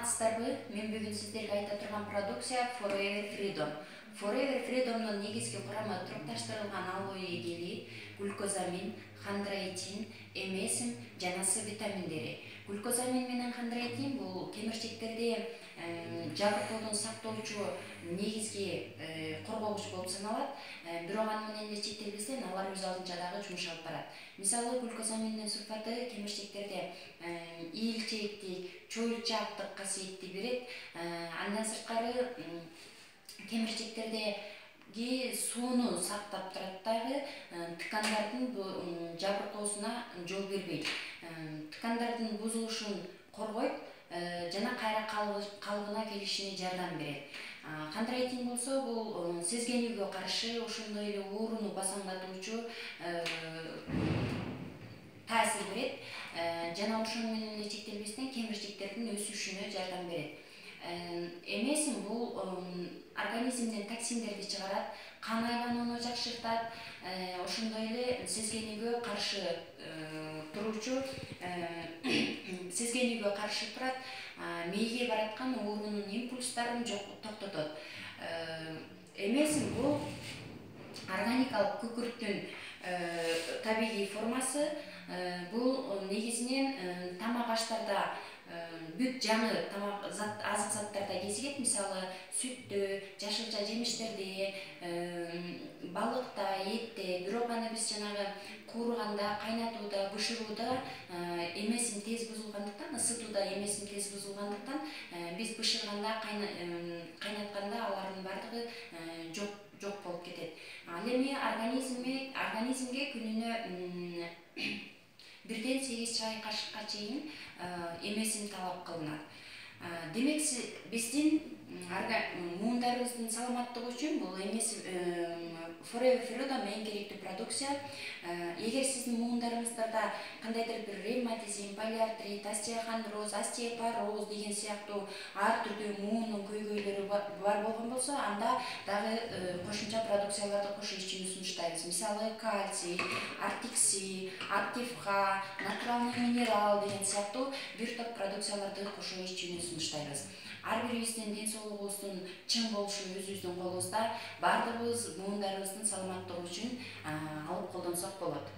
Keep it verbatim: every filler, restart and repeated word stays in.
саламатсыздарбы? Мен бүгүн сиздерге айта турган продукция Forever Freedom. Forever Freedom'дун негизги курамы турукташтырылган алоэ гели, глюкозамин, хондроитин, эмесим жана С витаминдери. Глюкозамин менен хондроитин бул кемирчектерди жабыркоодон сактоочу негизги коргогуч болуп саналат. Бирок аны менен эле чектелбестен алар өз алдынча дагы жумуш алып барат. Мисалы, глюкозаминдин сульфаты кемирчектерде ийилчээктик, чоюлчаактык касиетти берет. Андан сырткары кемирчектердеги сууну сактап турат дагы, ткандардын жабыркоосуна жол бербейт. Ткандардын бузулушун коргойт жана кайра калыбына келишине жардам берет. Хондроитин болсо бул сезгенүүгө каршы, ошондой эле ооруну басаңдатуучу таасир берет жана ошону менен эле чектелбестен кемирчектердин өсүшүнө жардам берет. Эмесим бул организмден токсиндерди чыгарат, кан айланууну жакшыртат, ошондой эле сезгенүүгө каршы туруучу сезгенүүгө каршы турат, мээге бараткан оорунун импульстарын токтотот. Эмесим бул органикалык күкүрттүн табигый формасы. Бул негизинен тамак аштарда бүт жаңы тамак азык заттарда кезигет. Мисалы, сүттө, жашылча жемиштерде, балыкта, этте. Бирок аны биз жанагы кууруганда, кайнатууда, бышырууда эмесим тез бузулгандыктан, ысытууда эмесим тез бузулгандыктан биз бышырганда, кайнатканда алардын бардыгы жок жок болуп кетет. Ал эми организмге организмге күнүнө бирден сегиз чай кашыкка чейин эмесим талап кылынат. Демек, биздин муундарыбыздын саламаттыгы үчүн бул эмесим Forever Freedom эң керектүү продукция. Эгер сиздин муундарыңыздарда кандайдыр бир ревматизм, полиартрит, остеохондроз, остеопороз деген сыяктуу ар түрдүү муунун көйгөйлөрү бар болгон болсо, анда дагы кошумча продукцияларды кошуу үчүн сунуштайбыз. Мисалы, кальций, артикси, активха, натуралный минерал деген сыяктуу бир топ продукцияларды кошуу үчүн сунуштайбыз. Ар бирибиздин ден соолугубуздун чың болушу өзүбүздүн колубузда. Бардыгыбыз муундарыбыздын саламаттыгы үчүн алып колдонсок болот.